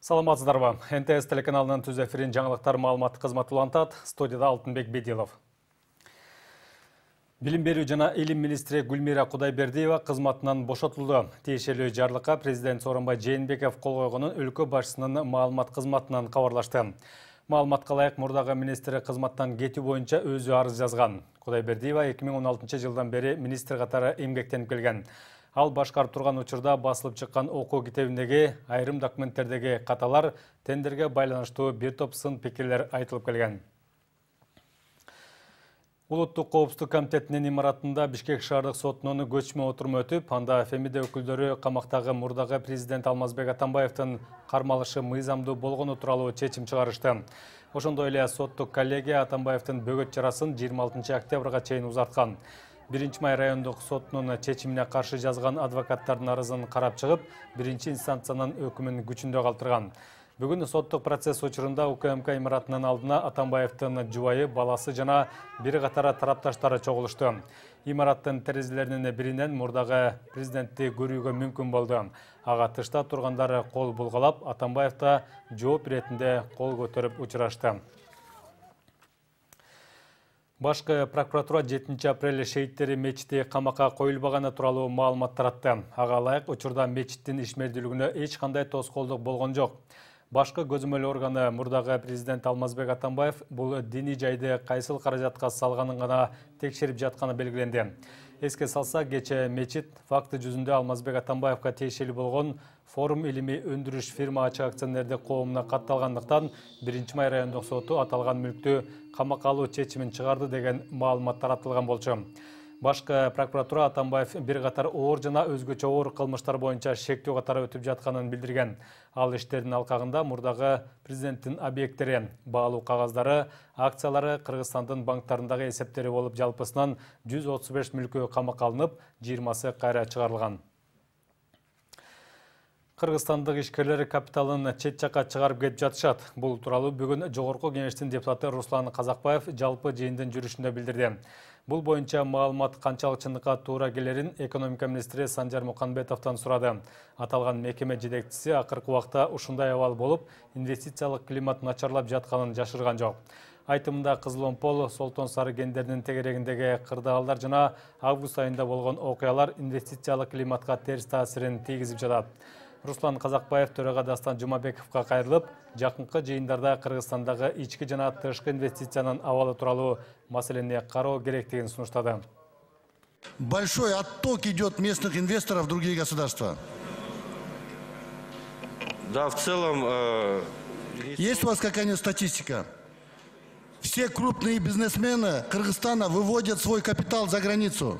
Саламатсыздарбы. НТС телеканалынын түз эфирин жаңылыктар маалыматтык кызматы улантат. Студияда Алтынбек Бедилов. Билим берүү жана илим министри Гүлмира Кудайбердиева кызматынан бошотулду. Тиешелүү жарлыкка президент Сооронбай Жээнбеков кол койгонун өлкө башчысынын маалымат кызматынан кабарлашты. Маалыматка ылайык мурдагы министр кызматтан кетүү боюнча өзү арыз жазган. Кудайбердиева 2016 жылдан бери министр катары эмгектенип келген. Ал башкарып турган учурда басылып чыккан окуу китебиндеги айрым документтердеги каталар тендерге байланыштуу бир топ сын пикирлер айтылып келген. Улуттук коопсуздук комитетинин имаратында Бишкек шаардык сотунун көчмө отуруму өтүп, анда Фемиде өкүлдөрү камактагы мурдагы президент Алмазбек Атамбаевдин кармалышы мыйзамдуу болгону тууралуу чечим чыгарышты. Ошондой эле соттук коллегия Атамбаевдин бөгөт чарасын 26 октябрга чейин узарткан. 1-май райондук сотунун чечимине каршы жазган адвокаттардын арызын карап чыгып, 1-инстанциянын өкүмүн күчүндө калтырган. Бүгүн соттук процесс учурунда УКМК имаратынын алдына Атамбаевдин жубайы, баласы жана бир катар тарапташтары чогулушту. Имараттын терезелеринин биринен мурдагы президентти көрүүгө мүмкүн болду. Ага тышта тургандар кол булгалап, Атамбаевда жооп иретинде кол көтөрүп учурашты. Башкы прокуратура 7 апрель шейиттери мечити камакка коюлбаганы тууралуу маалымат таратты. Ага ылайык учурда мечиттин ишмердүүлүгүнө эч кандай тоскоолдук болгон жок. Башкы көзөмөл органы мурдагы президент Алмазбек Атамбаев бул диний жайды кайсыл каражатка салганын гана текшерип жатканы белгиленди. Эске салса, кечээ мечит факты жүзүндө Алмазбек Атамбаевга тиешелүү болгон Форум илимий өндүрүш фирма ачык акционердик коомуна катталгандыктан 1-май райондук соту аталган мүлктү камакка алуу чечимин чыгарды деген маалымат таратылган болчу. Башкы прокуратура Атамбаев бир катар оор жана өзгөчө оор кылмыштар боюнча шектүү катары өтүп жатканын билдирген. Ал иштердин алкагында мурдагы президенттин объекттери, баалуу кагаздары, акциялары Кыргызстандын банктарындагы эсептери болуп жалпысынан 135 мүлкү камакка алынып, 20сы кайра чыгарылган. Кыргызстандык ишкерлер капиталын чет жакка чыгарып кетип жатышат. Бул тууралуу бүгүн Жогорку Кеңештин депутаты Руслан Казакбаев жалпы жыйындын жүрүшүндө билдирди. Бул боюнча маалымат канчалык чындыкка туура келерин экономика министри Санжар Муканбетовдон сурады. Аталган мекеме жетекчиси акыркы убакта ушундай абал болуп, инвестициялык климат начарлап жатканын жашырган жок. Айтымында Кызыл-Омпол, Солтон Сары кендеринин тегерегиндеги кырдаалдар жана август айында болгон окуялар инвестициялык климатка терс таасирин тийгизип жатат. Руслан Казакбаев төрага Дастан Жумабековго кайрылып, жакынкы жыйындарда Кыргызстандагы ички жана тышкы инвестициянын абалы тууралуу маселени кароо керектигин сунуштады. Большой отток идет местных инвесторов в другие государства. Да, в целом... Есть у вас какая-нибудь статистика? Все крупные бизнесмены Кыргызстана выводят свой капитал за границу.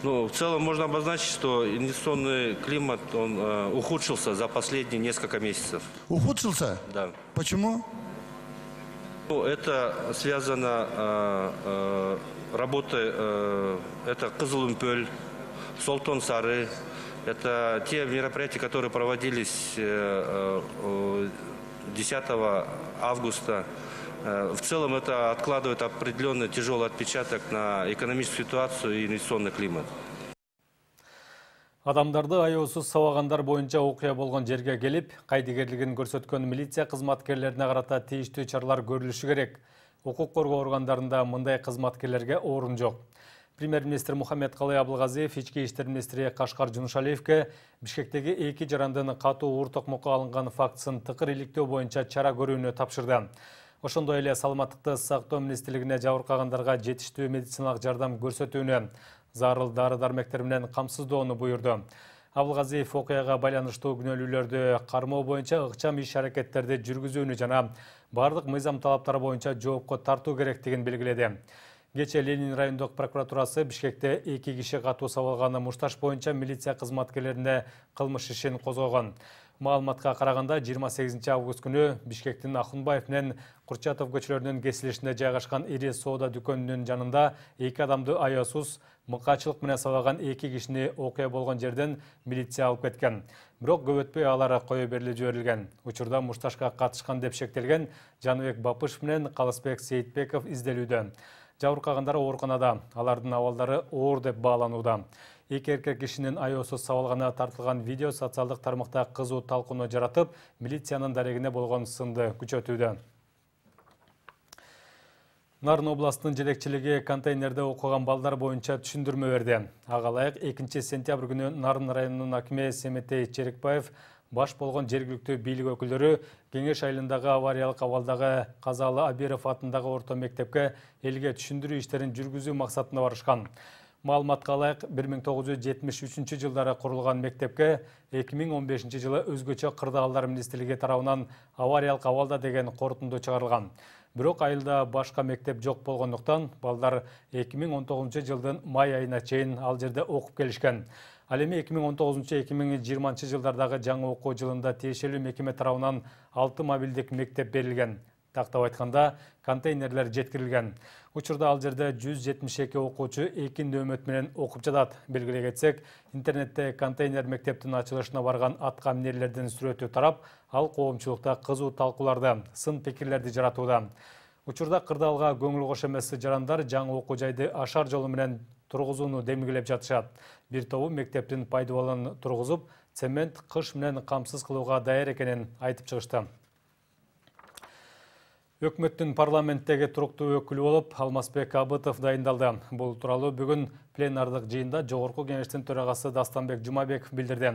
Ну, в целом можно обозначить, что инвестиционный климат он ухудшился за последние несколько месяцев. Ухудшился? Да. Почему? Ну, это связано работой, это Кызыл-Омпол, Солтон Сары. Это те мероприятия, которые проводились 10 августа. В целом это откладывает определенный тяжелый отпечаток на экономическую ситуацию и инвестиционный климат. Адамдарды аяусуз сабагандар боюнча окуя болгон жерге келип, кайдыгерлигин көрсөткөн милиция кызматкерлерине карата тийиштүү чаралар көрүлүшү керек. Укук коргоо органдарында мындай кызматкерлерге орун жок. Премьер-министр Мухаммедкалый Абылгазиев ички иштер министри Кашкар Жунушалиевке Бишкектеги 2 жарандын катуу оор токмокко алынган фактысын тыкыр иликтөө боюнча чара көрүүнү тапшырды. Ошондой эле саламаттыкты сактоо министрлигине жабыркагандарга жетиштүү медициналык жардам көрсөтүүнү, зарыл дары-дармектер менен камсыздоону буйрду. Абылгазиев окуяга байланыштуу күнөөлүүлөрдү кармоо боюнча ыкчам иш-аракеттерди жүргүзүүнү жана бардык мыйзам талаптары боюнча жоопко тартуу керектигин белгиледи. Кечээ Ленин райондук прокуратурасы Бишкекте 2 киши катуу сабалганы мушташ боюнча милиция кызматкерлерине кылмыш ишин козгогон. Маалыматка караганда 28 август күнү Бишкектин Ахунбаев менен Курчатов көчөлөрүнүн кесилишинде жайгашкан ири соода дүкөнүнүн жанында 2 адамды аяусуз мыкаачылык менен сабаган 2 кишини окуя болгон жерден милиция алып кеткен. Бирок көп өтпөй алар кое берилип жиберилген. Учурда мушташка катышкан деп шектелген Жаныбек Бапышев менен Калысбек Сейитбеков изделүүдө. Жабыркагандар ооруканада, алардын абалдары оор деп бааланууда. Эки эркек кишинин аяосуз сабалганы тартылган видео социалдык тармакта кызуу талкууну жаратып, милициянын дарегине болгон сынды күчөтүүдө. Нарын областынын жетекчилиги контейнерде окуган балдар боюнча түшүндүрмө берди. Ага ылайык 2 сентябрь күнү Нарын районунун акими Семетей Черекбаев баш болгон жергиликтүү бийлик өкүлдөрү Кеңеш айылындагы авариялык абалдагы Казалы Абиров атындагы орто мектепке элге түшүндүрүү иштерин жүргүзүү максатында барышкан. Маалыматка ылайык 1973 жылдары курулган мектепке 2015 жылы өзгөчө кырдаалдар министрлиги тарабынан авариялык абалда деген корутунду чыгарылган. Бирок айылда башка мектеп жок болгондуктан балдар 2019 жылдын май айына чейин ал жерде окуп келишкен. Ал эми 2019-2020 жылдардагы жаңы окуу жылында тиешелүү мекеме тарабынан 6 мобилдик мектеп берилген. Тактап айтканда, контейнерлер жеткирилген. Учурда ал жерде 172 окуучу 2 нөөмөт менен окуп жатат. Белгилей кетсек, интернетте контейнер мектептин ачылышына барган атка минерлердин сүрөтү тарап, ал коомчулукта кызуу талкууларды, сын пикирлерди жаратууда. Учурда кырдаалга көңүл кош эмес жарандар жаңы окуу жайды ашар жолу менен тургузууну демилгелеп жатышат. Бир тобу мектептин пайдубалын тургузуп, цемент кыш менен камсыз кылууга даяр экенин айтып чыгышты. Өкмөттүн парламенттеги туруктуу өкүлү болуп Алмазбек Абытов дайындалды. Бул тууралуу бүгүн пленардык жыйында Жогорку кеңештин төрагасы Дастанбек Жумабеков билдирди.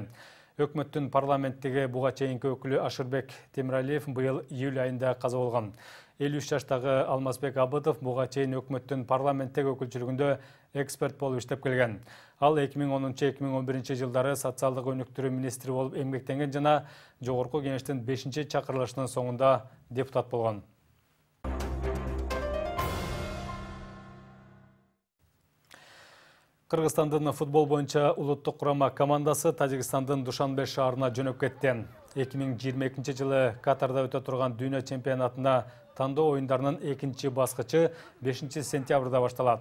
Өкмөттүн парламенттеги буга чейинки өкүлү Ашырбек Темиралиев быйыл июль айында каза болгон. 53 жаштагы Алмазбек Абытов буга чейин өкмөттүн парламенттеги өкүлчүлүгүндө эксперт болуп иштеп келген. Ал 2010-2011 жылдары социалдык өнүктүрүү министри болуп эмгектенген жана Жогорку кеңештин 5-чакырылышынын соңунда депутат болгон. Кыргызстандын футбол боюнча улуттук курама командасы Тажикстандын Душанбе шаарына жөнөп кетти. 2022 жылы Катарда өтө турган дүйнө чемпионатына тандоо оюндарынын 2-чи баскычы 5 сентябрда башталат.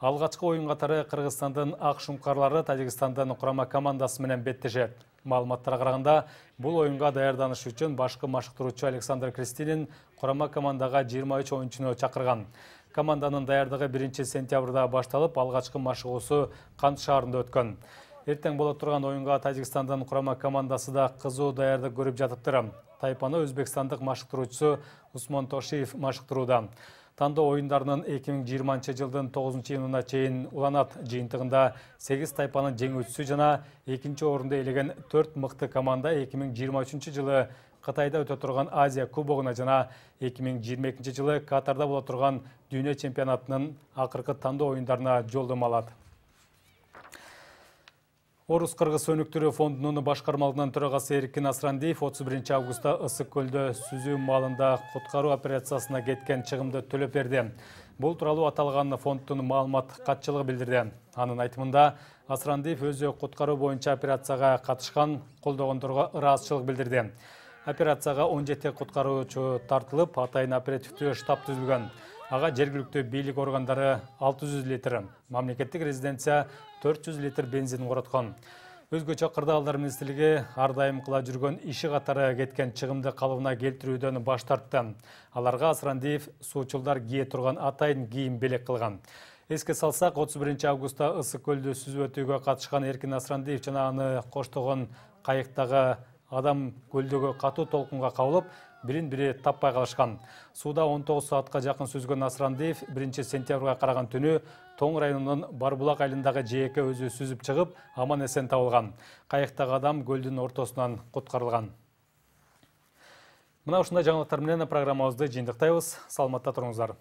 Алгачкы оюн катары Кыргызстандын ак шумкарлары Тажикстандын курама командасы менен беттешет. Маалыматтарга караганда, бул оюнга даярданыш үчүн башкы машыктыруучу Александр Кристинин курама командага 23 оюнчуну чакырган. Команданын даярдыгы 1 сентябрда башталып, алгачкы машыгуусу Кант шаарында өткөн. Эртең боло турган оюнга Тажикстандын курама командасы да кызуу даярдык көрүп жатыптыр. Тайпаны өзбекстандык машыктыруучусу Усмон Тошиев машыктырууда. Тандоо оюндарынын 2020 жылдын 9-июнуна чейин уланат. Жыйынтыгында 8 тайпанын жеңүүчүсү жана 2-чи орунду ээлеген 4 мыкты команда 2023 жылы Кытайда өтө турган Азия кубогуна жана 2022 жылы Катарда боло турган дүйнө чемпионатынын акыркы тандоо оюндарына жолдомо алат. Орус-Кыргыз өнүктүрүү фондунун башкармалыгынын төрагасы Эркин Асрандиев 31 августта Ысык көлдө сүзүү маалында куткаруу операциясына кеткен чыгымды төлөп берди. Бул тууралуу аталган фонддун маалымат катчылыгы билдирди. Анын айтымында, Асрандиев өзү куткаруу боюнча операцияга катышкан, колдогондорго ыраазычылык билдирди. Операцияга 17 куткаруучу тартылып, атайын оперативдүү штаб түзүлгөн. Ага жергиликтүү бийлик органдары 600 литр, мамлекеттик резиденция 400 литр бензин короткон. Өзгөчө кырдаалдар министрлиги ар дайым кыла жүргөн иши катары кеткен чыгымды калыбына келтирүүдөн баш тартты. Аларга Асрандиев суучулдар кие турган атайын кийим белек кылган. Эске салсак, 31 августта Ысык көлдү сүзүп өтүүгө катышкан Эркин Асрандиев жана аны коштогон кайыктагы адам көлдөгө катуу толкунга кабылып, бирин-бири таппай калышкан. Сууда 19 саатка жакын сүзгөн Асрандиев 1 сентябрга караган түнү Тоң районунун Барбулак айылындагы жээкке өзү сүзүп чыгып, аман-эсен табылган. Кайыктагы адам көлдүн ортосунан куткарылган. Мына ушундай жаңылыктар менен программабызды жыйынтыктайбыз. Саламатта туруңуздар.